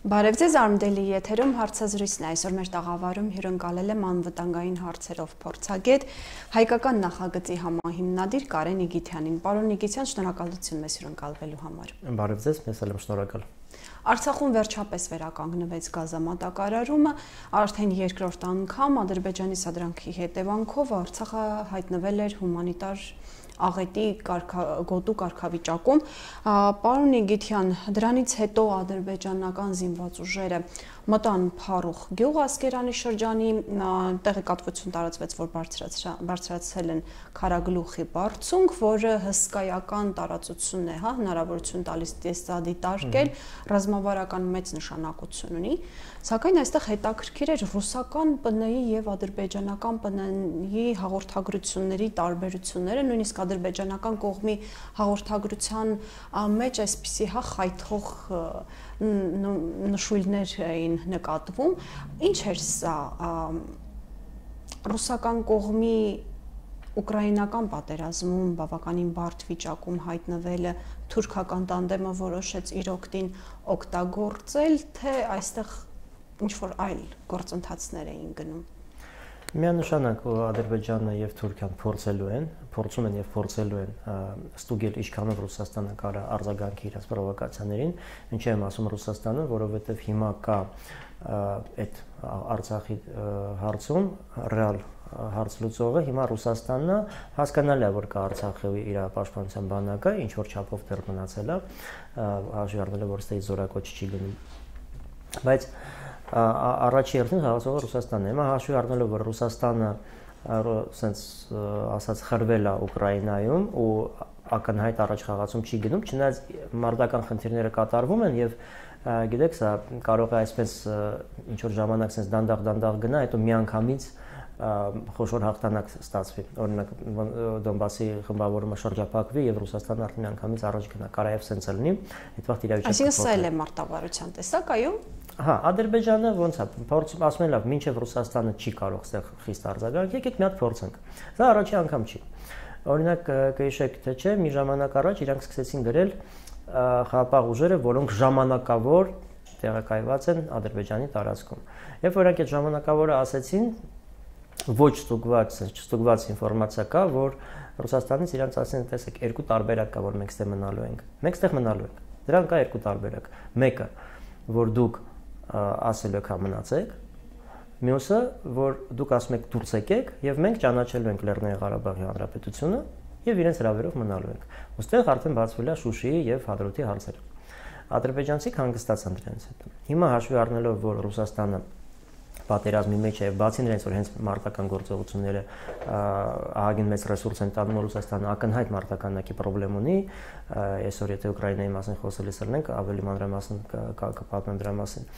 Բարև ձեզ, Արմդելի եթերում հարցազրույցն է, այսօր մեր տաղավարում հյուրընկալել եմ անվտանգային հարցերով փորձագետ, հայկական նախագծի համահիմնադիր Կարեն Իգիթյանին։ Պարոն Իգիթյան, շնորհակալություն մեզ հյուրընկալվելու համար։ Բարև ձեզ, մեզ էլ եմ շնորհակալ։ Արցախում վերջապես վերականգնվեց գազամատակարարումը, արդեն երկրորդ անգամ Ադրբեջանի սադրանքի հետևանքով Արցախը հայտնվել էր հումանիտար աղետի գոտու կարգավիճակում։ Պարոն Իգիթյան, դրանից հետո ադրբեջանական զինված ուժերը մտան Փարուխ գյուղ Ասկերանի շրջանի, տեղեկատվություն տարածվեց, որ բարձրացել են Քարագլուխի բարձունք, որը հսկայական տարածություն է, հնարավորություն տալիս տեսադիտարկել, ռազմավարական մեծ նշանակություն ունի, սակայն այստեղ հետաքրքիր էր ռուսական ՊՆ-ի եւ ադրբեջանական ՊՆ-ի հաղորդագրությունների տարբերությունները, նույնիսկ ադրբեջանական կողմի հաղորդագրության մեջ այսպիսի խայթող նշույլներ էին նկատվում։ Ինչ էր սա ռուսական կողմի ուկրաինական պատերազմում բավականին բարդ վիճակում հայտնվելը թուրքական տանդեմը որոշեց իր օգտին օգտագործել, թե այստեղ ինչ-որ այլ գործընթացներ էին գնում։ Միանշանակ Ադրբեջանը եւ Թուրքիան փորձում են եւ փորձելու են ստուգել ինչքանով Ռուսաստանը կարա արձագանքի իր պրովոկացիաներին, ինչի եմ ասում Ռուսաստանը, որովհետեւ հիմա կա այդ Արցախի հարցում ռեալ հարց լուծողը, հիմա Ռուսաստանը հասկանալի է, որ կա Արցախի իր պաշտպանության բանակը, ինչ որ չափով դեռ մնացել է, հաշվի առնելով որ ստեյ զորակոչ չի լինի, բայց առաջի հերթին խաղացողը Ռուսաստանն է։ Հիմա հաշվի առնելով որ Ռուսաստանը ասենց ասած խրվել է Ուկրաինայում ու ակնհայտ առաջ խաղացում չի գնում, չնայած մարտական խնդիրները կատարվում են եւ գիտեք, սա կարող է այսպես ինչ որ ժամանակ sense դանդաղ գնա, հետո միանգամից խոշոր հաղթանակ ստացվի։ Օրինակ Դոնբասի խմբավորումը շրջափակվի եւ Ռուսաստանը արդեն միանգամից առաջ գնա։ Կարա եւ sense լինի, այդ վաղ իրավիճակը։ Այսինքն սա էլ է մարտավարության տեսակ, այո։ Հա, Ադրբեջանը ոնց է, փորձում ասում են լավ, մինչև Ռուսաստանը չի կարող այստեղ խիստ արձագանք, եկեք մի հատ փորձենք։ Դա առաջի անգամ չի։ Օրինակ կհիշեք թե չէ, մի ժամանակ առաջ իրանք սկսեցին գրել խաղաղ ուժերը, որոնք ժամանակավոր տեղակայված են Ադրբեջանի տարածքում։ Երբ որ այդ ժամանակավորը ասեցին, ոչ ստուգված ինֆորմացիա կա, որ Ռուսաստանից իրանք ասեն, տեսեք, երկու տարբերակ կա, որ մենք ստեղ մնալու ենք։ Մենք ստեղ մնալու ենք։ Դրան կա երկու տարբերակ։ Մեկը, որ դուք ասել եք մնացեք, մյուսը, որ դուք ասում եք դուրս եկեք եւ մենք ճանաչելու ենք Լեռնային Ղարաբաղի Հանրապետությունը եւ իրենց հրավերով մնալու ենք։ Ոստեղ արդեն բացվել է Շուշիի եւ Հադրութի հարցերը։ Ադրբեջանցիք հանգստացան դրանից հետո։ Հիմա հաշվի առնելով, որ Ռուսաստանը պատերազմի մեջ է, բացի նրանից, որ հենց մարտական գործողությունները ահագին մեծ ռեսուրս են տանում Ռուսաստանը, ակնհայտ մարտականակի խնդրեմ ունի, այսօր եթե Ուկրաինայի մասին խոսելիս լինենք, ավելի մանրամասն կպատմեմ դրա մասին։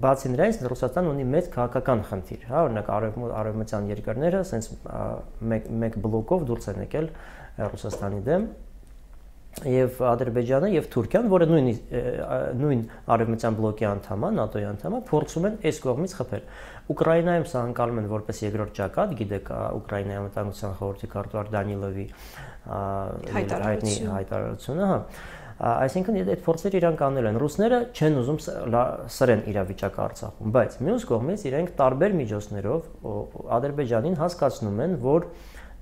Բացի նրանից, Ռուսաստանը ունի մեծ քաղաքական խնդիր, հա, օրինակ արևմտյան երկրները ասենց մեկ բլոկով դուրս են եկել Ռուսաստանի դեմ եւ Ադրբեջանը եւ Թուրքիան, որը նույն արևմտյան բլոկի անդամ է, ՆԱՏՕ-ի անդամ է, փորձում են այս կողմից խփել։ Ուկրաինայում սա անցալում են որպես երկրորդ ճակատ, գիտեք, Ուկրաինայի անվտանգության խորհրդի քարտուղար Դանիլովի հայտնի հայտարարությունը, հա։ Այսինքն այդ փորձերը իրանք անել են։ Ռուսները չեն ուզում սրեն իրավիճակը Արցախում, բայց մյուս կողմից իրենք տարբեր միջոցներով Ադրբեջանին հասկացնում են, որ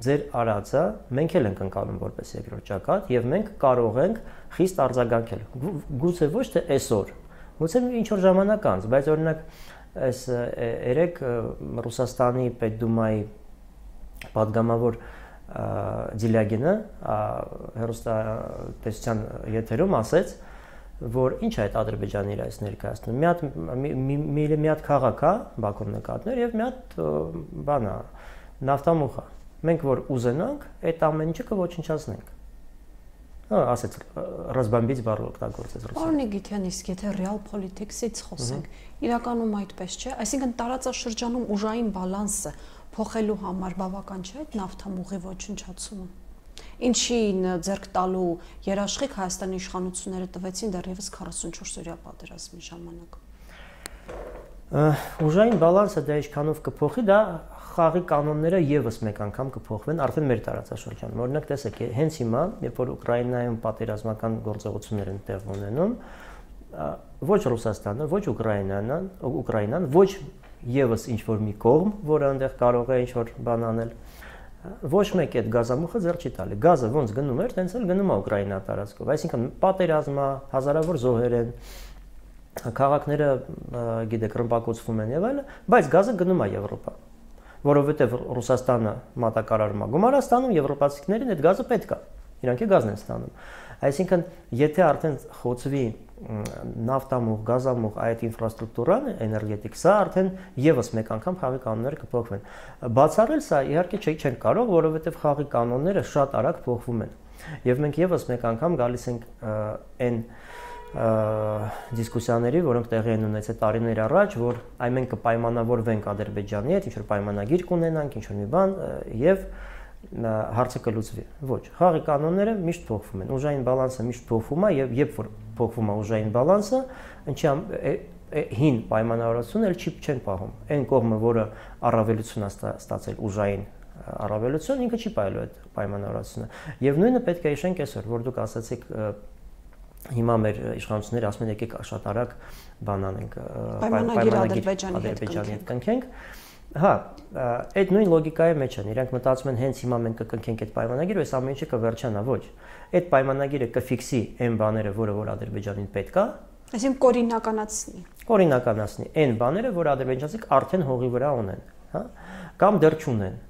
ձեր արածը մենք էլ ենք ընկալում որպես երկրորդ ճակատ եւ մենք կարող ենք խիստ արձագանքել։ Գուցե ոչ թե այսօր, գուցե ինչ որ ժամանակ անց, բայց օրինակ այս երեք Ռուսաստանի Պետդումայի падգամավոր Դիլյագինը հեռուստատեսության եթերում ասեց, որ ինչ է այդ Ադրբեջանի իր այս ներկայացնում։ Մի հատ քաղաք է Բաքուն նկատներ եւ մի հատ բան է, նավթամուղ է։ Մենք որ ուզենանք, այդ ամեն ինչը կոչնչացնենք։ Հա, ասեց ռազմաբից բառ օգտագործեց Ռուսաստանը։ Պարոն Իգիթյան, իսկ եթե real politics-ից խոսենք, իրականում այդպես չէ, այսինքն տարածաշրջանում ուժային բալանսը փոխելու համար բավական չէ այդ նավթամուղի ոչնչացումը։ Ինչին ձեռք տալու երաշխիք Հայաստանի իշխանությունները տվեցին դեռևս 44-օրյա պատերազմի ժամանակ։ Ուժային բալանսը դա ինչքանով կփոխի, դա խաղի կանոնները եւս մեկ անգամ կփոխվեն արդեն մեր տարածաշրջանում։ Օրինակ տեսեք, հենց հիմա, երբ որ Ուկրաինայում պատերազմական գործողություններ են տեղի ունենում, ոչ Ռուսաստանը, ոչ Ուկրաինան, ոչ եւս ինչ որ մի կողմ, որը այնտեղ կարող է ինչ որ բան անել, ոչ մեկ այդ գազամուխը ձեռ չի տալի։ Գազը ոնց գնում էր, տենց էլ գնում է Ուկրաինա տարածքով։ Այսինքն պատերազմ է, հազարավոր զոհեր են, քաղաքները գիտեք ռմբակոծվում են եւ այլն, բայց գազը գնում է Եվրոպա, որովհետեւ Ռուսաստանը մատակարարում է գումար ստանում, եվրոպացիներին այդ գազը պետք է, իրանք է գազն են ստանում։ Այսինքն, եթե արդեն խոցվի նավթամուղ, գազամուղ այդ ինֆրաստրուկտուրան, էներգետիկ, սա արդեն եւս մեկ անգամ խաղի կանոնները կփոխվեն։ Բացառել սա իհարկե չեն կարող, որովհետեւ խաղի կանոնները շատ արագ փոխվում են։ Եվ մենք եւս մեկ անգամ գալիս ենք այն դիսկուսիաների, որոնք տեղի են ունեցել տարիներ առաջ, որ այ մենք կպայմանավորվենք Ադրբեջանի հետ, ինչ որ պայմանագիր կունենանք, ինչ որ մի բան եւ հարցը կլուծվի։ Ոչ, խաղի կանոնները միշտ փոխվում են, ուժային բալանսը միշտ փոխվում է եւ երբ որ փոխվում է ուժային բալանսը, ինչի հին պայմանավորվածությունը չեն պահում։ Այն կողմը, որը առավելություն է ստացել ուժային առավելություն, ինքը չի պահելու այդ պայմանավորվածությունը։ Եվ նույնը պետք է հիշենք այսօր, որ դուք ասացիք հիմա մեր իշխանությունները ասում են եկեք շատ արագ բան անենք, պայմանագիր Ադրբեջանի հետ կնքենք։ Հա, այդ նույն լոգիկայի մեջ են։ Իրանք մտածում են հենց հիմա մենք կկնքենք այդ պայմանագիրը, այս ամեն ինչը կվերջանա, ոչ։ Այդ պայմանագիրը կֆիքսի այն բաները, որ Ադրբեջանին պետք է, այսինքն կորինականացնի։ Կորինականացնի այն բաները, որ ադրբեջանցիք արդեն հողի վրա ունեն, հա, կամ դեռ չունեն։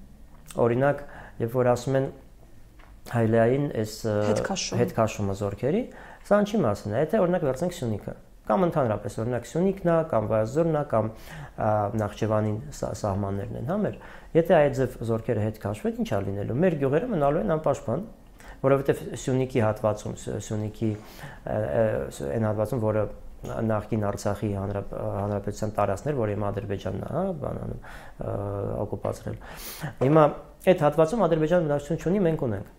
Օրինակ, երբ որ ասում են Հայլային այս հետքաշումը զորքերի, սա ինչի մասին է, եթե օրինակ վերցնենք Սյունիքը, կամ ընդհանրապես օրինակ Սյունիքն է, կամ Վայոց-Ձորն է, կամ Նախճեվանին սահմաններն են, հա մեր, եթե այդ ձև զորքերը հետ քաշվեն, ինչ է լինելու։ Մեր գյուղերը մնալու են անպաշտպան, որովհետև Սյունիքի հատվածում, Սյունիքի այն հատվածում, որը նախկին Արցախի հանրապետության տարածքներ, որ հիմա Ադրբեջանն է, հա, բանանում օկուպացրել։ Հիմա այդ հատվածում Ադրբեջանը բնակչություն չունի, մենք ունենք։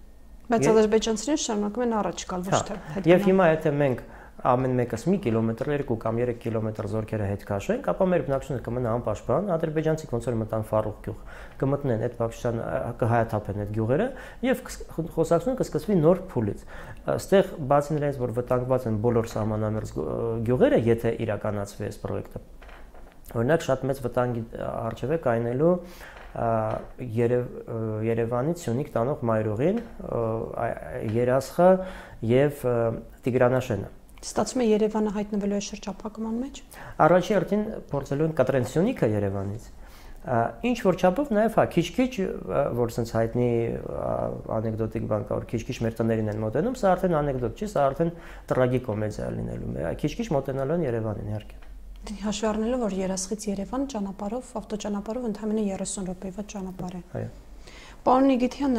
Բայց ադրբեջանցիները շարունակում են առաջ գալ, ոչ թե հետ։ Եվ հիմա եթե մենք ամեն մեկս մի կիլոմետր, 2 կամ 3 կիլոմետր զորքերը հետ քաշենք, ապա մեր բնակչությունը կմնա անպաշտպան, ադրբեջանցիք ոնց որ մտան Ֆարուղ գյուղ, կմտնեն այդ բնակչության, կհայաթափեն այդ գյուղերը եւ խոսակցությունը կսկսվի նոր փուլից։ Այստեղ բացի նրանից, որ վտանգված են բոլոր սահմանամերձ գյուղերը, եթե իրականացվի այս պրոյեկտը, օրինակ շատ մեծ վտանգի առջև է կայնելու Երևանից Սյունիք տանող մայրուղին, Երասխը եւ Տիգրանաշենը։ Ստացվում է Երևանը հայտնվելու է շրջափակման մեջ։ Առաջի հերթին փորձելու են կտրեն Սյունիքը Երևանից։ Ինչ որ չափով նաեւ հա քիչ-քիչ որ sense հայտնի անեկդոտիկ բան կա, որ քիչ-քիչ մեր տներին են մոտենում, սա արդեն անեկդոտ չի, սա արդեն տրագիկոմեդիա լինելու է։ Քիչ-քիչ մոտենալու են Երևանին իհարկե։ Հաշվի առնելով, որ Երասխից Երևան ճանապարհով, ավտոճանապարհով ընդհանրապես 30 րոպեվա ճանապարհ է։ Այո։ Պարոն Նիգիթյան,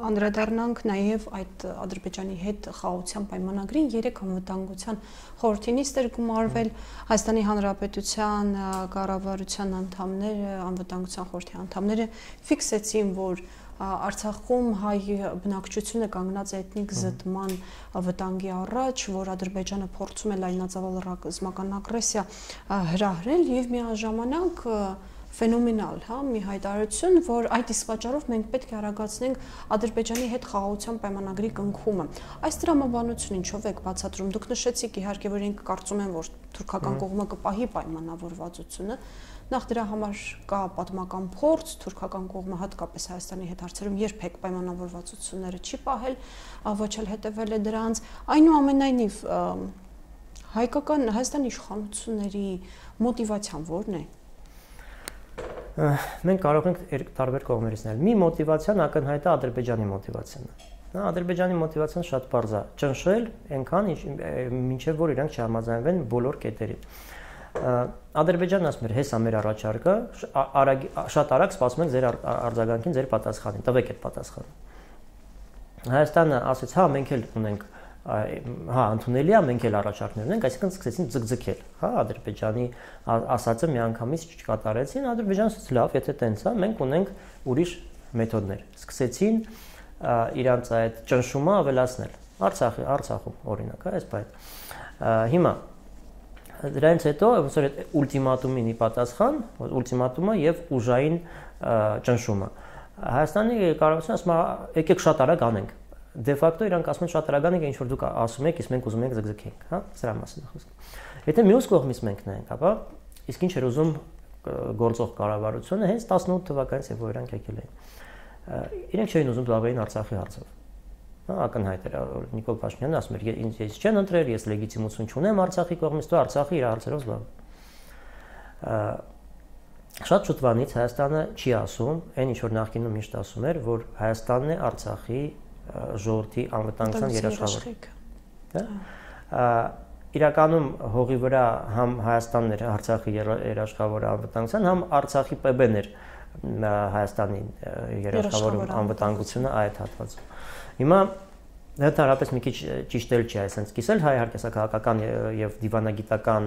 անդրադառնանք նաև այդ Ադրբեջանի հետ խաղաղության պայմանագրին 3 անվտանգության խորհրդի նիստ էր գումարվել Հայաստանի Հանրապետության կառավարության անդամները, անվտանգության խորհրդի անդամները ֆիքսեցին, որ Արցախում հայ բնակչությունը կանգնած է էթնիկ զտման վտանգի առաջ, որ Ադրբեջանը փորձում է լայնածավալ ռազմական ագրեսիա հրահրել եւ միաժամանակ ֆենոմենալ, հա, մի հայտարարություն, որ այդ իսկ պատճառով մենք պետք է արագացնենք Ադրբեջանի հետ խաղաղության պայմանագրի կնքումը։ Այս տրամաբանությունը ինչով եք բացատրում։ Դուք նշեցիք իհարկե, որ ինքը կարծում են, որ թուրքական կողմը կպահի պայմանավորվածությունը։ Նախ դրա համար կա պատմական փորձ, թուրքական կողմը հատկապես Հայաստանի հետ հարցերում երբեք պայմանավորվածությունները չի պահել, ոչ էլ հետևել է դրանց։ Այնուամենայնիվ հայկական Հայաստանի իշխանությունների մոտիվացիան ո՞րն է։ Մենք կարող ենք տարբեր կողմերից նայել։ Մի մոտիվացիան ակնհայտ է Ադրբեջանի մոտիվացիան։ Նա Ադրբեջանի մոտիվացիան շատ պարզ է՝ ճնշել այնքան, մինչև որ իրանք չհամաձայնվեն բոլոր կետերին։ Ադրբեջանն ասում էր, հեսա մեր առաջարկը, շատ արագ սպասում ենք ձեր արձագանքին, ձեր պատասխանին, տվեք այդ պատասխանը։ Հայաստանը ասեց, հա, մենք էլ ունենք, հա, ընդունելի է, մենք էլ առաջարկներ ունենք, այսինքն սկսեցին ձգձգել, հա, Ադրբեջանի ասածը միանգամից չկատարեցին, Ադրբեջանը ասաց, լավ, եթե տենց է, մենք ունենք ուրիշ մեթոդներ։ Սկսեցին իրանց այդ ճնշումը ավելացնել։ Արցախում օրինակ, այս բայդ։ Հիմա դրանից հետո ոնց որ ուլտիմատումին ի պատասխան, ուլտիմատումը եւ ուժային ճնշումը։ Հայաստանի կառավարությունը ասում է, եկեք շատ արագ անենք։ դե ֆակտո իրանք ասում են շատ արագան է ինչ որ դուք ասում եք, իսկ մենք ուզում ենք ձգձգենք, հա, սրա մասին է խոսքը։ Եթե մյուս կողմից մենք նայենք, ապա իսկ ինչ էր ուզում գործող կառավարությունը հենց 18 թվականից երբ որ իրանք եկել էին։ Իրենք չէին ուզում զբաղվեին Արցախի հարցով։ Հա, ակնհայտ էր Նիկոլ Փաշինյանը ասում էր, ինձ չեն ընտրել, ես լեգիտիմություն չունեմ Արցախի կողմից, դու Արցախի իր հարցերով զբաղվի։ Շատ շուտվանից Հայաստանը չի ասում, այն ինչ որ նախկինում միշտ ասում էր, որ Հայաստանն է Արցախի ժողովրդի անվտանգության երաշխավորը։ Հա։ Իրականում հողի վրա համ Հայաստանն էր Արցախի երաշխավորը անվտանգության, համ Արցախի ՊԲ-ն էր Հայաստանի երաշխավորում անվտանգությունը այդ հատվածում։ Հիմա Ընդհանրապես մի քիչ ճիշտ էլ չի այսպես կիսել, հայ իհարկե սա քաղաքական եւ դիվանագիտական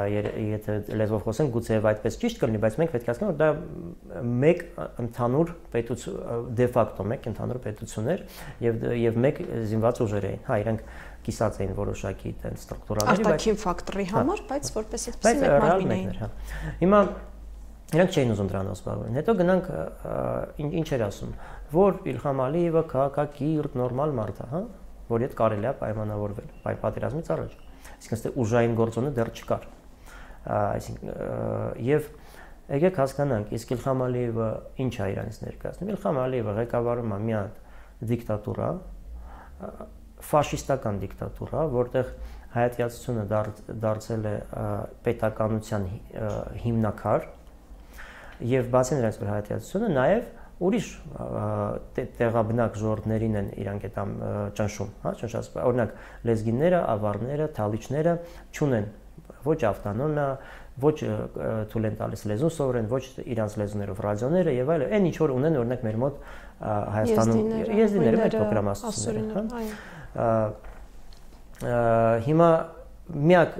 եթե լեզվով խոսենք, գուցե եւ այդպես ճիշտ կլինի, բայց մենք պետք է հասկանանք, որ դա մեկ ընդհանուր պետություն դե ֆակտո մեկ ընդհանուր պետություն էր եւ մեկ զինված ուժեր էին։ Հա, իրենք կիսած էին որոշակի այդպես ստրուկտուրաների, բայց արտաքին ֆակտորի համար, բայց որպես այդպես մեկ մարմին էին։ Հիմա իրանք չէին ուզում դրանով զբաղվել։ Հետո գնանք ինչ էր ասում, որ Իլհամ Ալիևը քաղաքակիրթ նորմալ մարդ է, հա, որի հետ կարելի է պայմանավորվել, պատերազմից առաջ։ Այսինքն այստեղ ուժային գործոնը դեռ չկար։ Այսինքն եւ եկեք հասկանանք, իսկ Իլհամ Ալիևը ինչ է իրանից ներկայացնում։ Իլհամ Ալիևը ղեկավարում է մի հատ դիկտատուրա, ֆաշիստական դիկտատուրա, որտեղ հայատյացությունը դարձել է պետականության հիմնաքար եւ բացի նրանից որ հայատյացությունը նաեւ ուրիշ տեղաբնակ ժողովուրդներին են իրանք այդ ճնշում, հա, ճնշած, օրինակ լեզգիները, ավարները, թալիչները չունեն ոչ ավտոնոմիա, ոչ թույլ են տալիս լեզուն սովորեն, ոչ իրանց լեզուներով ռադիոները եւ այլն, այն ինչ որ ունեն օրինակ մեր մոտ Հայաստանում եզդիները մեր պրոգրամացիաները, հա։ Հիմա միակ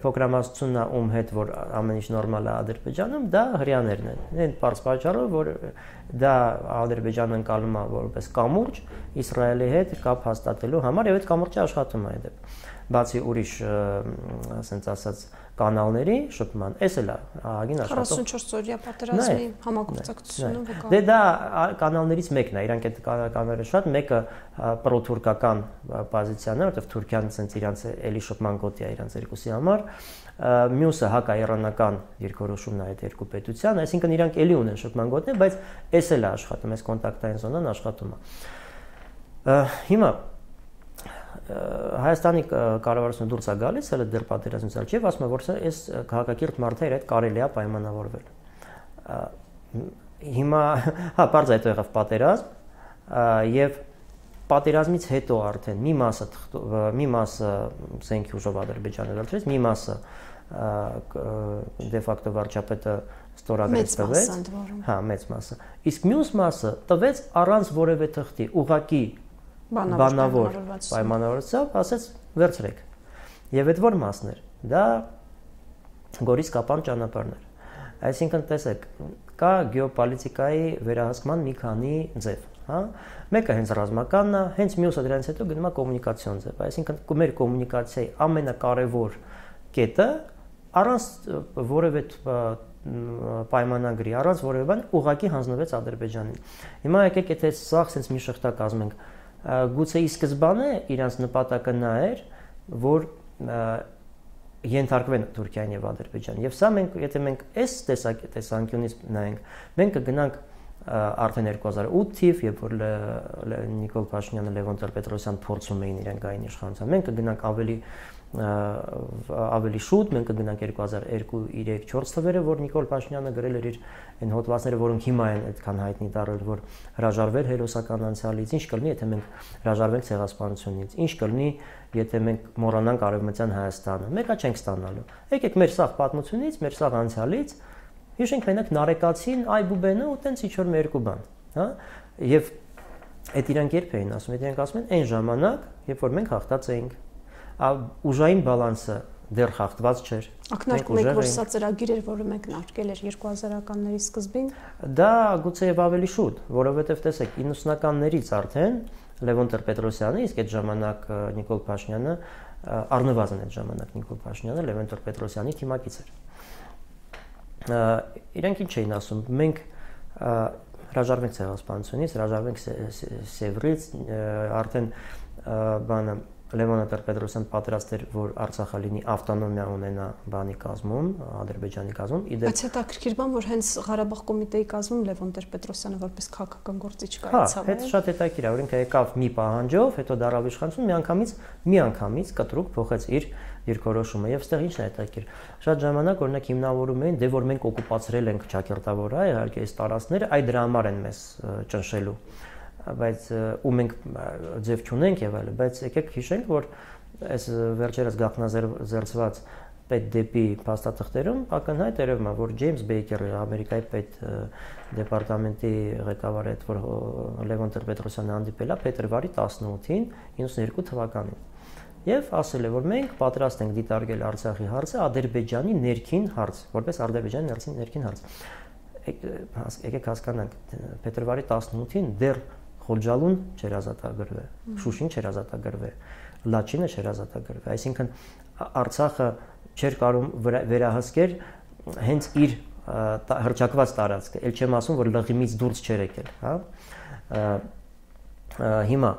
պրոգրամացությունն է ում հետ որ ամեն ինչ նորմալ է Ադրբեջանում, դա հрьяաներն են։ Այն բարձ պատճառով որ դա Ադրբեջանը ընկալում է որպես կամուրջ Իսրայելի հետ կապ հաստատելու համար եւ այդ կամուրջը աշխատում է այդպես։ Բացի ուրիշ ասենց ասած կանալների շփման, էս էլ է ահագին աշխատող 44 օրյա պատերազմի համագործակցությունը վկա։ Դե դա կանալներից մեկն է, իրանք այդ կանալները շատ, մեկը պրոթուրքական պոզիցիան է, որտեղ Թուրքիան ցենց իրանց էլի շփման գոտի է իրանց երկուսի համար, մյուսը հակաիրանական երկորոշումն է այդ երկու պետության, այսինքն իրանք էլի ունեն շփման գոտի, բայց էս էլ է աշխատում, այս կոնտակտային զոնան աշխատում է։ Հիմա Հայաստանի կառավարությունը դուրս է գալիս, հələ դեռ պատերազմից առաջ եւ ասում է, որ այս քաղաքակիրթ մարդը իր հետ կարելի է պայմանավորվել։ Հիմա, հա, բարձր հետո եղավ պատերազմ եւ պատերազմից հետո արդեն մի մասը զենքի ուժով Ադրբեջանը դարձրեց, մի մասը դե ֆակտո վարչապետը ստորագրեց տվեց, հա, մեծ մասը։ Իսկ մյուս մասը տվեց առանց որևէ թղթի, ուղղակի բանավոր պայմանավորվածությամբ ասեց վերցրեք։ Եվ այդ որ մասն էր, դա Գորիս Կապան ճանապարհն էր։ Այսինքն տեսեք, կա գեոպոլիտիկայի վերահսկման մի քանի ձև, հա։ Մեկը հենց ռազմականն է, հենց մյուսը դրանից հետո գնում է կոմունիկացիոն ձև։ Այսինքն մեր կոմունիկացիայի ամենակարևոր կետը առանց որևէ պայմանագրի, առանց որևէ բան ուղղակի հանձնվեց Ադրբեջանին։ Հիմա եկեք եթե սա sense մի շղթա կազմենք, գուցե ի սկզբանե իրանց նպատակը նա էր, որ ենթարկվեն Թուրքիան եւ Ադրբեջանը։ Եվ սա մենք, եթե մենք այս տեսանկյունից նայենք, մենք կգնանք արդեն 2008 թիվ, երբ որ Նիկոլ Փաշինյանը, Լևոն Տեր-Պետրոսյանը փորձում էին իրենք գային իշխանության, մենք կգնանք ավելի շուտ, մենք կգնանք 2002-3-4 թվերը, որ Նիկոլ Փաշինյանը գրել էր իր այն հոդվածները, որոնք հիմա են այդքան հայտնի դառել, որ հրաժարվել հերոսական անցյալից, ինչ կլինի, եթե մենք հրաժարվենք ցեղասպանությունից, ինչ կլինի, եթե մենք մոռանանք արևմտյան Հայաստանը, մեկը չենք ստանալու։ Եկեք մեր սաղ պատմությունից, մեր սաղ անցյալից հիշենք մենակ Նարեկացին, Այբուբենը ու տենց ինչ որ մի երկու բան, հա։ Եվ այդ իրանք երբ էին ասում, իրանք ասում են այն ժամանակ, երբ որ մենք հաղթած էինք, ուժային բալանսը դեռ խախտված չէր։ Ակնարկում եք, որ սա ծրագիր էր, որը մեկնարկել էր 2000-ականների սկզբին։ Դա գուցեև ավելի շուտ, որովհետև տեսեք 90-ականներից արդեն Լևոն Տեր-Պետրոսյանը, իսկ այդ ժամանակ Նիկոլ Փաշինյանը, առնվազն այդ ժամանակ Նիկոլ Փաշինյանը Լևոն Տեր-Պետրոսյանի թիմակից էր։ Իրանք ինչ էին ասում, մենք հրաժարվենք ցեղասպանությունից, հրաժարվենք Սևրից, արդեն բանը Լևոնը Տեր-Պետրոսյան պատրաստ էր, որ Արցախը լինի ավտոնոմիա ունենա բանի կազմում, Ադրբեջանի կազմում։ Բայց հետաքրքիր բան, որ հենց Ղարաբաղ կոմիտեի կազմում Լևոն Տեր-Պետրոսյանը որպես քաղաքական գործիչ կայացավ։ Հա, դա շատ հետաքրքիր է, օրինակ եկավ մի պահանջով, հետո դարավ իշխանություն, միանգամից կտրուկ փոխեց իր դիրքորոշումը եւ այստեղ ինչն է հետաքրքիր։ Շատ ժամանակ օրինակ հիմնավորում էին, դե որ մենք օկուպացրել ենք ճակերտավոր, իհարկե այս տարածքները, այ դրա համար են մեզ ճնշելու, բայց ու մենք ձև չունենք եւ այլն, բայց եկեք հիշենք, որ այս վերջերս գաղտնազերծված պետ դեպի փաստաթղթերում ակնհայտ երևում է, որ Ջեյմս Բեյքերը, Ամերիկայի պետ դեպարտամենտի ղեկավարը, այդ որ Լևոն Տեր-Պետրոսյանը հանդիպել է փետրվարի 18-ին 92 թվականին եւ ասել է, որ մենք պատրաստ ենք դիտարկել Արցախի հարցը Ադրբեջանի ներքին հարց, որպես Ադրբեջանի ներքին հարց։ Եկեք հասկանանք, փետրվարի 18-ին դեռ Խոջալուն չէր ազատագրվել, Շուշին չէր ազատագրվել, Լաչինը չէր ազատագրվել, այսինքն Արցախը չէր կարող վերահսկել հենց իր հրճակված տարածքը, ել չեմ ասում, որ լղիմից դուրս չէր եկել, հա։ Հիմա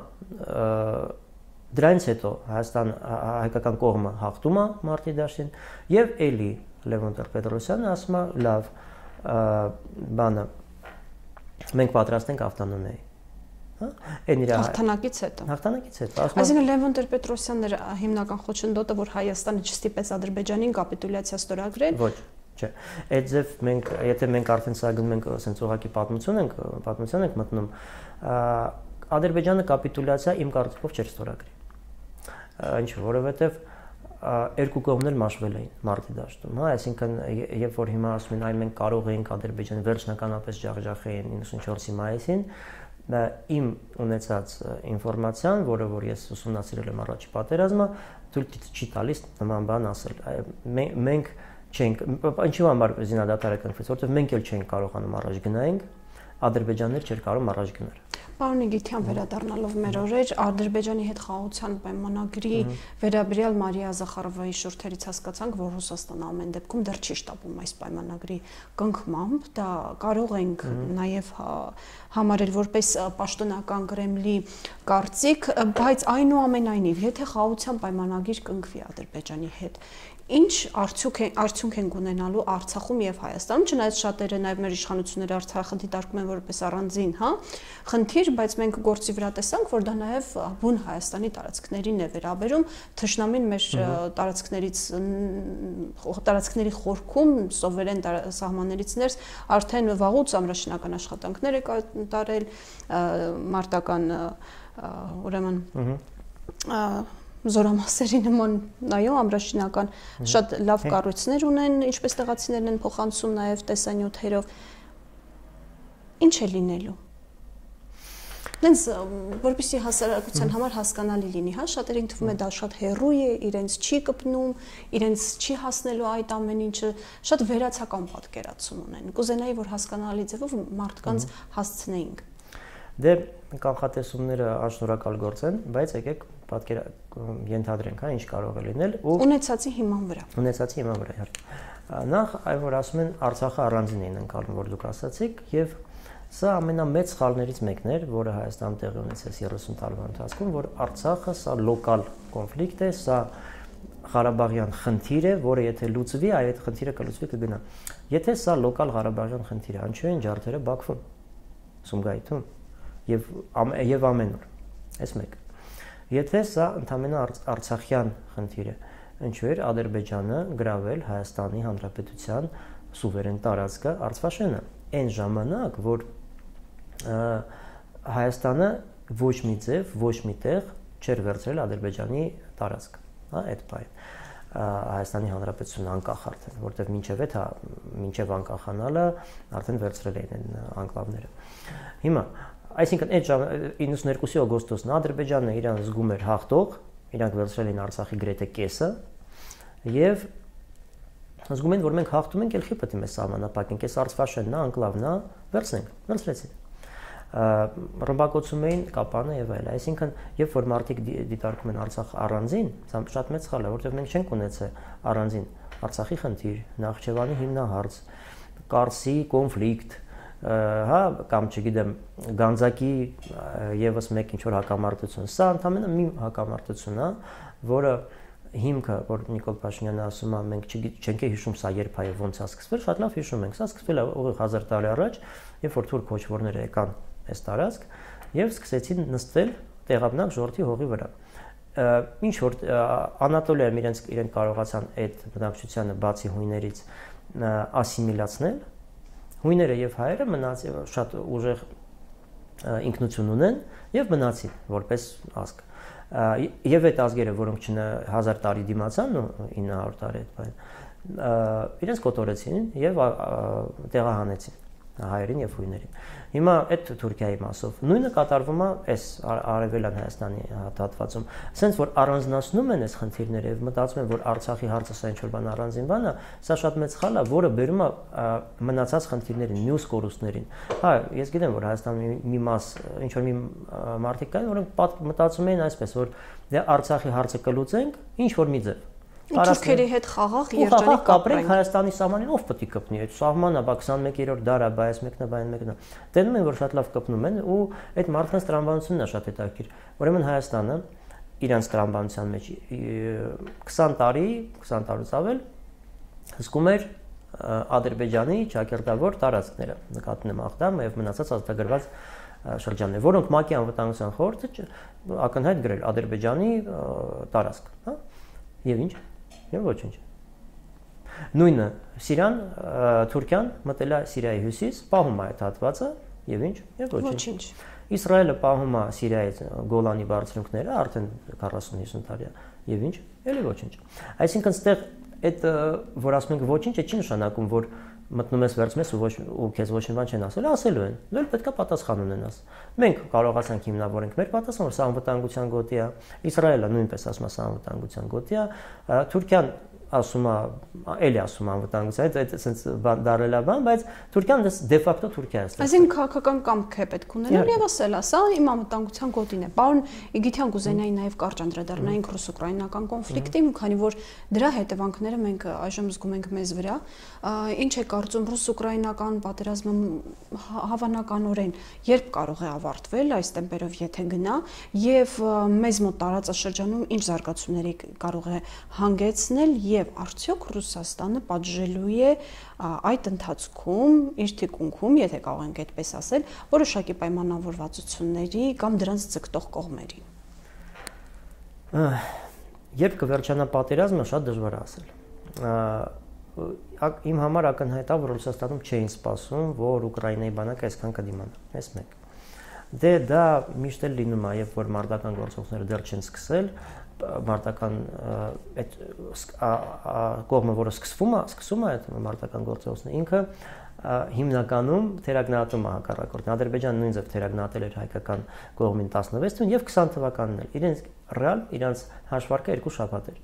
դրանից հետո հայկական կողմը հաղթում է մարտի դաշտին եւ էլի Լևոն Տեր-Պետրոսյանը ասում է լավ բանը մենք պատրաստ ենք ավտոնոմիայի, հա, այն իր հաղթանակից հետո այսինքն Լևոն Տեր-Պետրոսյանն էր հիմնական խոչընդոտը, որ Հայաստանը չստիպեց Ադրբեջանին կապիտուլյացիա ստորագրել։ Ոչ, չէ, այդ ձև մենք եթե մենք արդեն սա գնում ենք ասենց ուղղակի պատմություն ենք մտնում, Ադրբեջանը կապիտուլյացիա իմ կարծիքով չէր ստորագրի, ինչ որովհետև երկու կողմն էլ մաշվել էին մարտի դաշտում, հա, այսինքն երբ որ հիմա ասում են այ մենք կարող էինք Ադրբեջանը վերջնականապես ջախջախեին 94-ի մայիսին, իմ ունեցած ինֆորմացիան, որը որ ես ուսումնասիրել եմ առաջի պատերազմը, թույլ չի տալիս նման բան ասել։ Մենք չենք, ինչու համար զինադատարը կնքվեց, որովհետև մենք էլ չենք կարողանում առաջ գնայինք, Ադրբեջաններ չէր կարող առաջ գնալ։ Պարոն Իգիթյան, վերադառնալով մեր օրեր, Ադրբեջանի հետ խաղաղության պայմանագրի վերաբերյալ Մարիա Զախարովայի շուրթերից հասկացանք, որ Ռուսաստանը ամեն դեպքում դեռ չի շտապում այս պայմանագրի կնքմամբ, դա կարող ենք նաև համարել որպես պաշտոնական Կրեմլի կարծիք, բայց այնուամենայնիվ, եթե խաղաղության պայմանագիր կնքվի Ադրբեջանի հետ, ինչ արդյունք են ունենալու Արցախում եւ Հայաստանում, չնայած շատերը նաեւ մեր իշխանությունները Արցախը դիտարկում են որպես առանձին, հա, խնդիր, բայց մենք գործի վրա տեսանք, որ դա նաեւ բուն Հայաստանի տարածքներին է վերաբերում, թշնամին մեր տարածքների խորքում սովերեն սահմաններից ներս արդեն վաղուց ամրաշինական աշխատանքներ է կատարել, մարտական ուրեմն զորամասերի նման նայո ամրաշինական շատ լավ կառույցներ ունեն, ինչպես տեղացիներն են փոխանցում նաև տեսանյութերով։ Ինչ է լինելու։ Դենց որպեսզի հասարակության համար հասկանալի լինի, հա, շատերին թվում է դա շատ հեռու է, իրենց չի կպնում, իրենց չի հասնելու այդ ամեն ինչը, շատ վերացական պատկերացում ունեն։ Կուզենայի, որ հասկանալի ձևով մարդկանց հասցնեինք։ Դե կանխատեսումները անշնորհակալ գործ են, բայց եկեք ենթադրենք, հա, ինչ կարող է լինել ու ունեցածի հիման վրա։ Իհարկե։ Նախ այն որ ասում են Արցախը առանձին են անցալում, որ դուք ասացիք, եւ սա ամենամեծ սխալներից մեկն էր, որը Հայաստանում տեղի ունեցեց 30 տարվա ընթացքում, որ Արցախը սա լոկալ կոնֆլիկտ է, սա Ղարաբաղյան խնդիր է, որը եթե լուծվի, այդ խնդիրը կլուծվի կգնա։ Եթե սա լոկալ Ղարաբաղյան խնդիր է, ինչու են ջարդերը Բաքվում, Սումգայիթում եւ ամեն օր։ Այս մեկ։ Եթե սա ընդհանրապես արցախյան խնդիր է, ինչու էր Ադրբեջանը գրավել Հայաստանի Հանրապետության սուվերեն տարածքը Արցախաշենը, այն ժամանակ, որ Հայաստանը ոչ մի ձև, ոչ մի տեղ չէր վերցրել Ադրբեջանի տարածքը, հա, այդ բանը։ Հայաստանի Հանրապետությունը անկախ արդեն, որտեղ մինչև անկախանալը արդեն վերցրել էին անկլավները։ Հիմա այսինքն այդ 92-ի օգոստոսն Ադրբեջանը իրան զգում էր հաղթող, իրանք վերցրել էին Արցախի գրեթե կեսը եւ զգում են, որ մենք հաղթում ենք, ելքի պետք է մեզ սահմանափակենք, այս Արցախաշենն է, անկլավն է, վերցրեցին։ Ռմբակոծում էին Կապանը եւ այլն, այսինքն երբ որ մարդիկ դիտարկում են Արցախ առանձին, սա շատ մեծ սխալ է, որովհետեւ մենք չենք ունեցել առանձին Արցախի խնդիր, Նախճեվանի հիմնահարց, Կարսի կոնֆլիկտ, հա, կամ չգիտեմ, Գանձակի եւս մեկ ինչ որ հակամարտություն։ Սա ընդհանրապես մի հակամարտություն է, որը հիմքը, որ Նիկոլ Փաշինյանը ասում է, մենք չենք հիշում սա երբ է ոնց է սկսվել, շատ լավ հիշում ենք։ Սա սկսվել է ուղիղ 1000 տարի առաջ, երբ որ թուրք քոչվորները եկան այս տարածք եւ սկսեցին նստել տեղաբնակ ժողովրդի հողի վրա։ Ինչ որ Անատոլիայում իրենք կարողացան այդ բնակչությանը բացի հույներից ասիմիլացնել, հույները եւ հայերը մնացին շատ ուժեղ ինքնություն ունեն եւ մնացին որպես ազգ։ Եվ այդ ազգերը, որոնք 1000 տարի դիմացան, 900 տարի այդ բան, իրենց կոտորեցին եւ տեղահանեցին հայերին եւ հույներին։ Հիմա այդ Թուրքիայի մասով նույնը կատարվում է այս արևելյան Հայաստանի հատվածում։ Սենց որ առանձնացնում են այս խնդիրները եւ մտածում են, որ Արցախի հարցը սա ինչ որ բան առանձին բան է, սա շատ մեծ խալ է, որը բերում է մնացած խնդիրներին, մյուս կորուստներին։ Հա, ես գիտեմ, որ Հայաստանի մի մաս, ինչ որ մի մարդիկ կային, որոնք մտածում էին այսպես, որ դե Արցախի հարցը կլուծենք, ինչ որ մի ձև։ Թուրքերի հետ խաղաղ երջանիկ կապրենք Հայաստանի սահմանին, ով պետք է կպնի, այդ սահմանը բա 21-րդ դար է, բա այս մեկն է, բա այն մեկն է։ Տենում են, որ շատ լավ կպնում են ու այդ մարդկանց տրամաբանությունն է շատ հետաքրքիր։ Ուրեմն Հայաստանը իրանց տրամաբանության մեջ 20 տարուց ավել հսկում էր Ադրբեջանի ճակերտավոր տարածքները, նկատում եմ Աղդամ եւ մնացած ազատագրված շրջաններ, որոնք ՄԱԿ-ի անվտանգության խորհուրդը ակնհայտ գրել Ադրբեջանի տարածք, հա։ Եվ ինչ։ Եվ ոչինչ։ Նույնը Սիրիան, Թուրքիան մտել է Սիրիայի հյուսիս, պահում է այդ հատվածը, եւ ինչ, եւ ոչինչ։ Իսրայելը պահում է Սիրիայից Գոլանի բարձունքները արդեն 40-50 տարի է, եւ ինչ, ելի ոչինչ։ Այսինքն այդտեղ այդ որ ասում ենք ոչինչ, չի նշանակում, որ մտնում ես վերցում ես ու քեզ ոչ մի բան չեն ասել, ասելու են։ Դու պետք է պատասխան ունենաս։ Մենք կարողացանք հիմնավորենք մեր պատասխանը, որ սա անվտանգության գոտի է, Իսրայելը նույնպես ասում է սա անվտանգության գոտի է, Թուրքիան ասում է, էլի ասում է անվտանգության, այդ sense դարել է բան, բայց Թուրքիան դե ֆակտո Թուրքիա է։ Այսինքն քաղաքական կամք է պետք ունենալ եւ ասել, սա իմ անվտանգության գոտին է։ Պարոն Իգիթյան կուզենայի նաեւ կարճ անդրադառնայինք ռուս-ուկրաինական կոնֆլիկտին, քանի որ դրա հետևանքները մենք այժմ զգում ենք մեզ վրա։ Ինչ է կարծում ռուս-ուկրաինական պատերազմը հավանականորեն երբ կարող է ավարտվել այս տեմպերով եթե գնա եւ մեզ մոտ տարածաշրջանում ինչ զարգացումների կարող է հանգեցնել եւ արդյոք Ռուսաստանը պատժելու է այդ ընթացքում իր թիկունքում, եթե կարող ենք այդպես ասել, որոշակի պայմանավորվածությունների կամ դրանց ձգտող կողմերի։ Երբ կվերջանա պատերազմը, շատ դժվար է ասել։ Իմ համար ակնհայտ է, որ Ռուսաստանում չէին սպասում, որ Ուկրաինայի բանակը այսքան կդիմանա։ Այս մեկ։ Դե դա միշտ էլ լինում է, երբ որ մարտական գործողությունները դեռ չեն սկսել, մարտական այդ կողմը, որը սկսում է այդ մարտական գործողությունը, ինքը հիմնականում թերագնահատում է հակառակորդին։ Ադրբեջանը նույն ձև թերագնահատել էր հայկական կողմին 16 թվականին եւ 20 թվականին էլ։ Իրենց ռեալ, իրենց հաշվարկը 2 շաբաթ էր։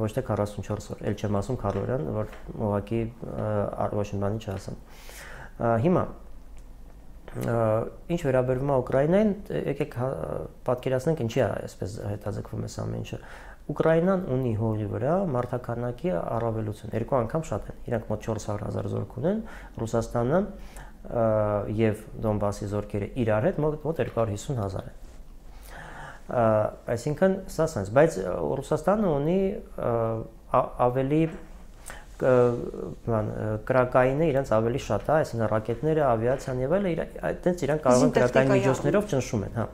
Ոչ թե 44 օր, ել չեմ ասում քառորյան, որ ուղղակի ոչ մի բանի չասեմ։ Հիմա ինչ վերաբերում է Ուկրաինային, եկեք պատկերացնենք ինչի է այսպես հետաձգվում այս ամեն ինչը։ Ուկրաինան ունի հողի վրա մարդաքանակի առավելություն, 2 անգամ շատ են։ Իրանք մոտ 400,000 զորք ունեն, Ռուսաստանը եւ Դոնբասի զորքերը իրար հետ մոտ 250,000 են։ Այսինքն սա sense, բայց Ռուսաստանը ունի ավելի կրակային է իրենց ավելի շատ է, այսինքն ռակետները, ավիացիան եւ այլն, այդտենց իրենք կարող են կրակային միջոցներով ճնշում են, հա։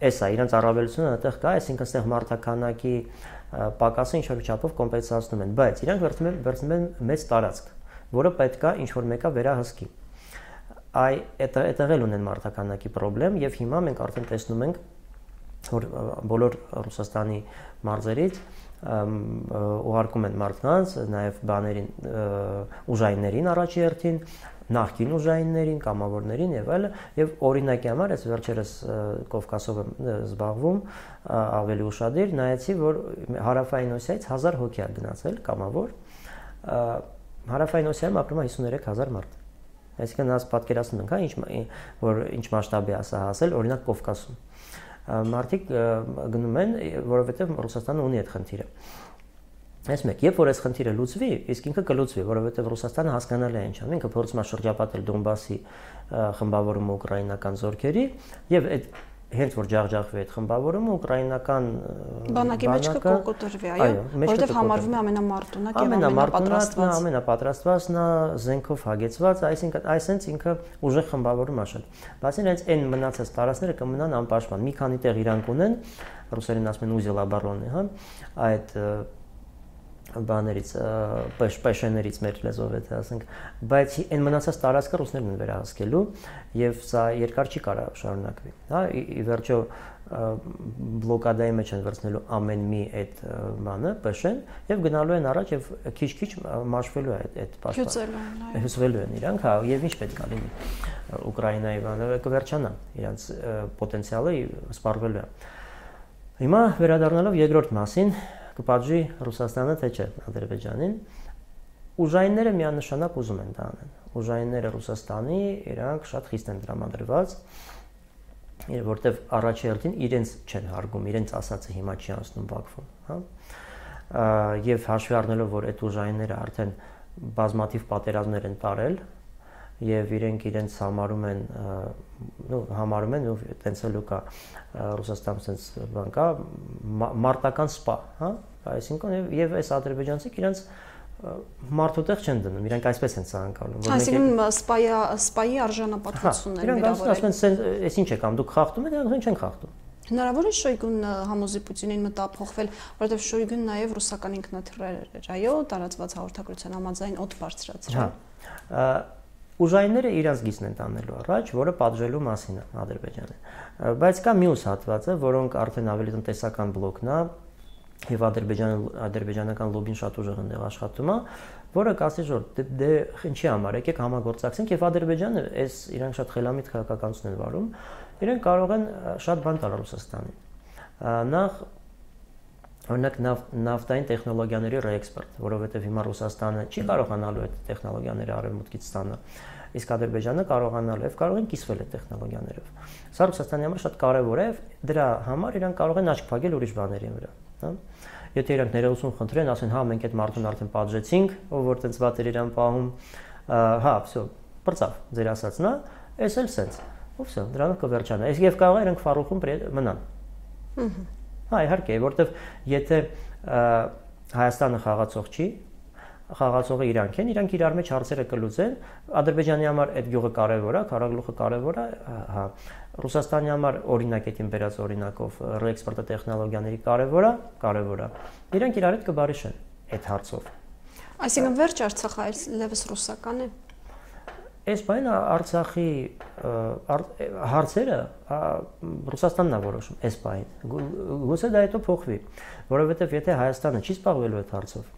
Էսա իրենց առավելությունը այդտեղ կա, այսինքն այստեղ մարդաքանակի պակասը ինչ որ չափով կոմպենսացնում են, բայց իրենք վերցնում են մեծ տարածք, որը պետք է ինչ որ մեկը վերահսկի։ Այդտեղ էլ ունեն մարդաքանակի խնդրեմ եւ հիմա մենք արդեն տեսնում ենք, որ բոլոր Ռուսաստանի մարզերից ուղարկում են մարդկանց, նաև բաներին ուժայիններին առաջի հերթին, նախկին ուժայիններին, կամավորներին եւ այլն, եւ օրինակի համար այս վերջերս Կովկասով եմ զբաղվում ավելի ուշադիր, նայեցի, որ Հարավային Օսիայից 1000 հոգի է գնացել կամավոր, Հարավային Օսիայում ապրում է 53,000 մարդ։ Այսինքն nás պատկերացնում ենք, հա, որ ինչ մասշտաբի է սա հասել, օրինակ Կովկասում։ Մարդիկ գնում են, որովհետև Ռուսաստանը ունի այդ խնդիրը։ Այս մեկ, երբ որ այս խնդիրը լուծվի, իսկ ինքը կլուծվի, որովհետև Ռուսաստանը հասկանալի է ինչ անում, ինքը փորձում է շրջապատել Դոնբասի խմբավորումը ուկրաինական զորքերի եւ այդ հենց որ ջախջախվի այդ խմբավորումը ուկրաինական բանակի մեջ կկոկոտրվի, այո, որովհետև համարվում է ամենամարտունակ եւ ամենապատրաստված, ամենապատրաստվածն է, զենքով հագեցված, այսինքն այսենց ինքը ուժեղ խմբավորում է շատ։ Բացի հենց այն մնացած տարածքները կմնան անպաշտպան։ Մի քանի տեղ իրանք ունեն, ռուսերեն ասում են ուզել обороны, հա, այդ բաներից, պեշեներից մեր լեզվով եթե ասենք, բայց այն մնացած տարածքը ռուսներն են վերահսկելու եւ սա երկար չի կարա շարունակվի, հա, ի վերջո բլոկադայի մեջ են վերցնելու ամեն մի այդ բանը, պեշեն եւ գնալու են առաջ եւ քիչ-քիչ մաշվելու է այդ պաշտպան։ Հյուսվելու են իրանք, հա, եւ ինչ պետք է լինի Ուկրաինայի բանը կվերջանա, իրանց պոտենցիալը սպառվելու է։ Հիմա վերադառնալով երկրորդ մասին կպատժի Ռուսաստանը թե չէ Ադրբեջանին, ուժայինները միանշանակ ուզում են դա անեն։ Ուժայինները Ռուսաստանի իրանք շատ խիստ են տրամադրված, որտեվ առաջի հերթին իրենց չեն հարգում, իրենց ասածը հիմա չի անցնում Բաքվում, հա։ Եվ հաշվի առնելով, որ այդ ուժայինները արդեն բազմաթիվ պատերազմներ են տարել եւ իրենց համարում են ու տենց էլ կա Ռուսաստանում sense բան կա մարտական սպա, հա, այսինքն եւ այս ադրբեջանցիք իրենց մարդուտեղ չեն դնում, իրանք այսպես են ցանկանում, այսինքն սպայի արժանապատվությունն են վերաբերել։ Իրանք ասում են, այս ինչ եք անում, դուք խախտում եք, իրենք չեն խախտում։ Հնարավոր է Շոյգուն համոզի Պուտինին մտափոխվել, որովհետև Շոյգուն նաև ռուսական ինքնաթիռեր էր, այո, տարածված հաղորդագրության համաձայն օդ բարձրացրել։ Ուժայինները իրենց գիծն են տանելու առաջ, որը պատժելու մասին է Ադրբեջանը։ Բայց կա մյուս հատվածը, որոնք արդեն ավելի տնտեսական բլոկն է, եւ ադրբեջանական լոբին շատ ուժեղ ընդեղ աշխատում է, որը կասի որ դե ինչի համար եկեք համագործակցենք եւ Ադրբեջանը այս իրանք շատ խելամիտ քաղաքականություն են վարում, իրենք կարող են շատ բան տալ Ռուսաստանին։ Նախ օրինակ նավթային տեխնոլոգիաների ռեէքսպորտ, որովհետև հիմա Ռուսաստանը չի կարողանալու այդ տեխնոլոգիաները արևմուտքից ստանալ, իսկ Ադրբեջանը կարողանալու է, կարող են կիսվել այդ տեխնոլոգիաներով։ Սա Ռուսաստանի համար շատ կարևոր է, դրա համար իրանք կարող են աչք փակել ուրիշ բաների վրա, հա։ Եթե իրանք ներողություն խնդրեն, ասեն, հա, մենք այդ մարդուն արդեն պատժեցինք, ով որ տենց վատ էր իրան պահում, հա, всё, բրծավ, ձեր ասածն է, էս էլ սենց, ու всё, դրանով կվերջանա։ Իսկ եւ կարող է իրանք ֆարուխում մնան։ Հա, իհարկե, որովհետև եթե Հայաստանը խաղացող չի, խաղացողը իրանք են, իրանք իրար մեջ հարցերը կլուծեն, Ադրբեջանի համար այդ գյուղը կարևոր է, քարագլուխը կարևոր է, հա, Ռուսաստանի համար օրինակ այդ բերած օրինակով ռեէքսպորտը տեխնոլոգիաների կարևոր է։ Իրանք իրար հետ կբարիշեն այդ հարցով։ Այսինքն վերջ Արցախը այլևս ռուսական է։ Այս բանը Արցախի հարցերը Ռուսաստանն է որոշում այս բանը։ Գուցե դա հետո փոխվի, որովհետև եթե Հայաստանը չի զբաղվելու այդ հարցով,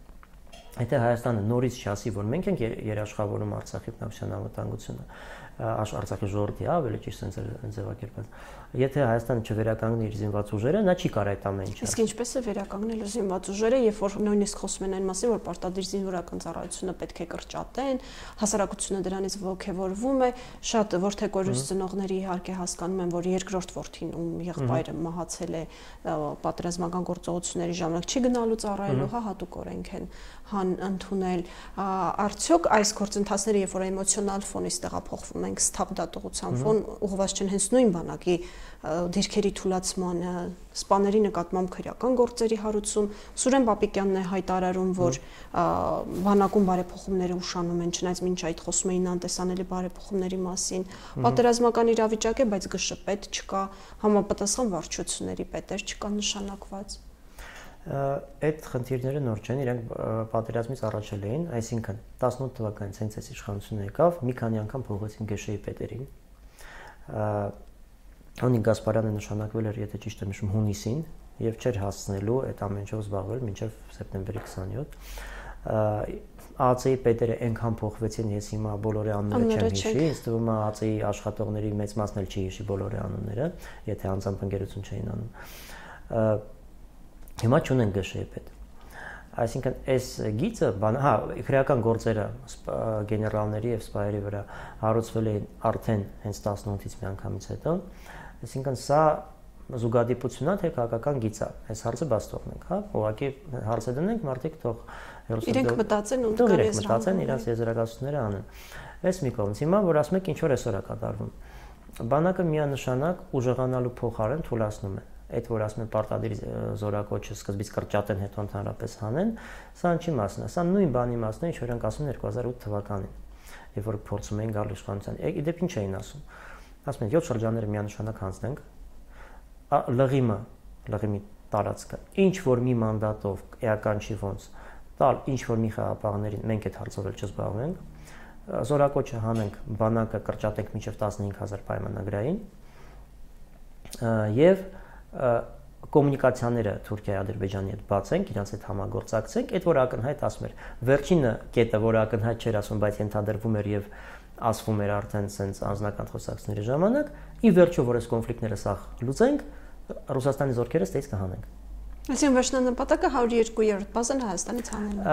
եթե Հայաստանը նորից չասի, որ մենք ենք երաշխավորում Արցախի բնակչության անվտանգությունը, Արցախի ժողովրդի ավելի ճիշտ ձևակերպել, եթե Հայաստանը չվերականգնի իր զինված ուժերը, նա չի կարող այդ ամեն ինչը։ Իսկ ինչպես է վերականգնելու զինված ուժերը, երբ որ նույնիսկ խոսում են այն մասին, որ պարտադիր զինվորական ծառայությունը պետք է կրճատեն, հասարակությունը դրանից ողջևորվում է, շատ որթեկորուս ծնողների իհարկե հասկանում են, որ երկրորդ որդին ում եղբայրը մահացել է պատերազմական գործողությունների ժամանակ չի գնալու ծառայելու, հա, հատուկ օրենք են ընդունել։ Արդյոք այս գործընթացները, երբ որ էմոցիոնալ ֆոնից տեղափոխվում ենք սթափ դատողության ֆոն, ուղղված չեն հենց նույն բանակի դիրքերի թուլացմանը, սպաների նկատմամբ քրեական գործերի հարուցում։ Սուրեն Պապիկյանն է հայտարարում, որ բանակում բարեփոխումները ուշանում են, չնայած մինչ այդ խոսում էին անտեսանելի բարեփոխումների մասին։ Պատերազմական իրավիճակ է, բայց ԳՇՊետ չկա, համապատասխան վարչությունների պետեր չկա նշանակված։ Այդ խնդիրները նոր չեն, իրենք պատերազմից առաջ էին, այսինքն 18 թվականից հենց այս իշխանությունը եկավ, մի քանի անգամ փոխեցին ԳՇ-ի պետերին։ Աննի Գասպարյանը նշանակվել էր, եթե ճիշտ եմ հիշում, հունիսին եւ չէր հասցնելու այդ ամեն ինչով զբաղվել մինչեւ սեպտեմբերի 27։ ԱԱՑ-ի պետերը այնքան փոխվեցին, ես հիմա բոլորի անունները չեմ հիշի, ինձ թվում է ԱԱՑ-ի աշխատողների մեծ մասն էլ չի հիշի բոլորի անունները, եթե անձամբ ընկերություն չէին անում։ Հիմա չունեն ԳՇ-ի պետ։ Այսինքն այս գիծը, հա, քրեական գործերը գեներալների եւ սպայերի վրա հարուցվել էին արդեն հենց 18-ից մի անգամից հետո, այսինքն սա զուգադիպությունն է, թե քաղաքական գիծ է։ Այս հարցը բաց թողնենք, հա, ուղղակի հարցը դնենք, մարդիկ թող իրենք մտածեն ու մտածեն իրենց եզրակացությունները անեն։ Այս մի կողմից հիմա որ ասում եք ինչ որ այսօր է կատարվում։ Բանակը միանշանակ ուժեղանալու փոխարեն թուլացնում է։ Այդ որ ասում են պարտադիր զորակոչը սկզբից կրճատեն, հետո ընդհանրապես հանեն, սա ինչի մասն է։ Սա նույն բանի մասն է, ինչ որ ենք ասում 2008 թվականին, երբ որ փորձում էին գալ իշխանության։ Իդեպ ինչ էին ասում։ Ասում են 7 շրջանները միանշանակ հանձնենք, լղիմի տարածքը, ինչ որ մի մանդատով էական չի ոնց տալ, ինչ որ մի խաղապահներին մենք այդ հարցով էլ չզբաղվենք, զորակոչը հանենք, բանակը կրճատենք մինչև 15000 պայմանագրային եւ կոմունիկացիաները Թուրքիայի, Ադրբեջանի հետ բացենք, իրancs հետ համագործակցենք, այդ որ ակնհայտ ասում էր։ Վերջինը կետը, որ ակնհայտ չէր ասում, բայց ենթադրվում էր եւ ասվում էր արդեն sense անձնական խոսակցությունների ժամանակ, ի վերջո որ այս կոնֆլիկտները սա լուծենք, Ռուսաստանի զորքերը ստեյց կհանենք։ Այսինքն վերջնանպատակը 102-րդ բազան Հայաստանից հանելն է։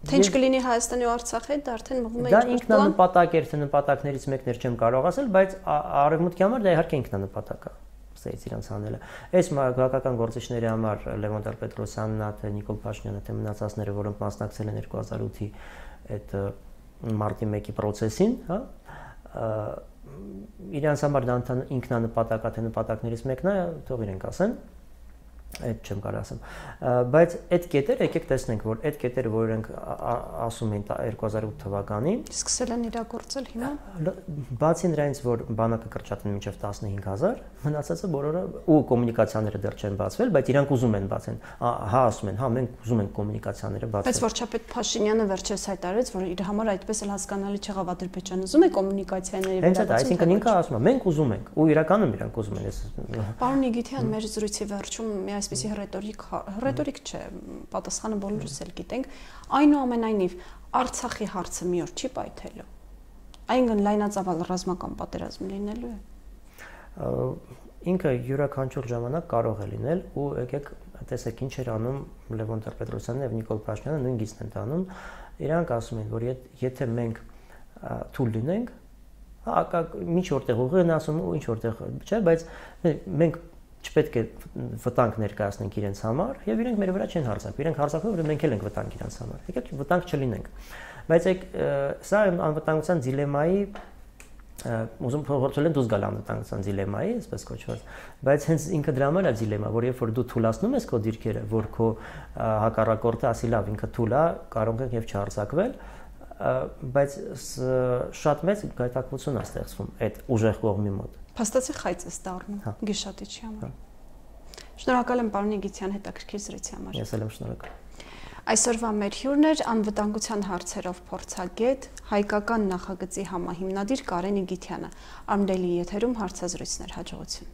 Թե ինչ կլինի Հայաստանի ու Արցախի հետ, դա արդեն մղվում է դա ինքնանպատակ էր, թե նպատակներից մեկն էր չեմ կարող ասել, բայց արևմուտքի համար դա իհարկե ինքնանպատակ է։ Ստեյց իրանց հանելը։ Այս քաղաքական գործիչների համար Լևոն Տեր-Պետրոսյանն է, թե Նիկոլ Փաշինյանը, թե մնացածները, որոնք մասնակցել են 2008-ի այդ մարտի 1-ի process-ին, հա, իրանց համար դա ինքնանպատակ է, թե նպատակներից մեկն է, թող իրենք ասեն։ Այդ չեմ կարող ասեմ, բայց այդ կետերը եկեք տեսնենք, որ այդ կետերը, որ իրենք ասում են 2008 թվականին, սկսել են իրագործել հիմա։ Բացի նրանից, որ բանակը կրճատեն մինչև 15000, մնացածը բոլորը ու կոմունիկացիաները դեռ չեն բացվել, բայց իրանք ուզում են բացեն։ Հա, ասում են, հա, մենք ուզում ենք կոմունիկացիաները բացել։ Բայց վարչապետ Փաշինյանը վերջերս հայտարարեց, որ իր համար այդպես էլ հասկանալի չեղավ Ադրբեջանը ուզում է կոմունիկացիաների վերաբերյալ։ Այսինքն ինքը ասում է, մենք ուզում ենք, ու իրականում իրանք ուզում են։ Պարոն Նիգիթյան, մեր զրույցի վերջում այսպեսի ռետորիկ չէ, պատասխանը բոլորս էլ գիտենք, այնուամենայնիվ Արցախի հարցը մի օր չի պայթելու։ Այնքան լայնածավալ ռազմական պատերազմ լինելու է։ Ինքը յուրաքանչյուր ժամանակ կարող է լինել ու եկեք տեսեք ինչ էր անում Լևոն Տեր-Պետրոսյանն եւ Նիկոլ Փաշինյանը նույն գիծն են տանում։ Իրանք ասում են, որ եթե մենք թույլ լինենք, հա, ինչ որտեղ ուղի են ասում ու ինչ որտեղ չէ, բայց մենք չպետք է վտանգ ներկայացնենք իրենց համար եւ իրենք մեր վրա չեն հարձակվում։ Իրենք հարձակվում են, որ մենք էլ ենք վտանգ իրենց համար։ Եկեք վտանգ չլինենք։ Բայց սա անվտանգության դիլեմայի ուզում փոխել են դուրս գալ անվտանգության դիլեմայի, այսպես կոչված, բայց հենց ինքը դրա համար է դիլեմա, որ երբ որ դու թուլացնում ես քո դիրքերը, որ քո հակառակորդը ասի լավ, ինքը թուլ է, կարող է եւ չհարձակվել, բայց շատ մեծ գայթակղություն է ստեղծվում այդ ուժեղ կողմի մոտ։ Փաստացի խայծ է դառնում Գիշատիչի համար։ Շնորհակալ եմ պարոն Նիգիթյան հետաքրքիր զրույցի համար։ Ես էլ եմ շնորհակալ։ Այսօրվա մեր հյուրն էր անվտանգության հարցերով փորձագետ, հայկական նախագծի համահիմնադիր Կարեն Նիգիթյանը։ Արմդելի եթերում հարցազրույցներ, հաջողություն։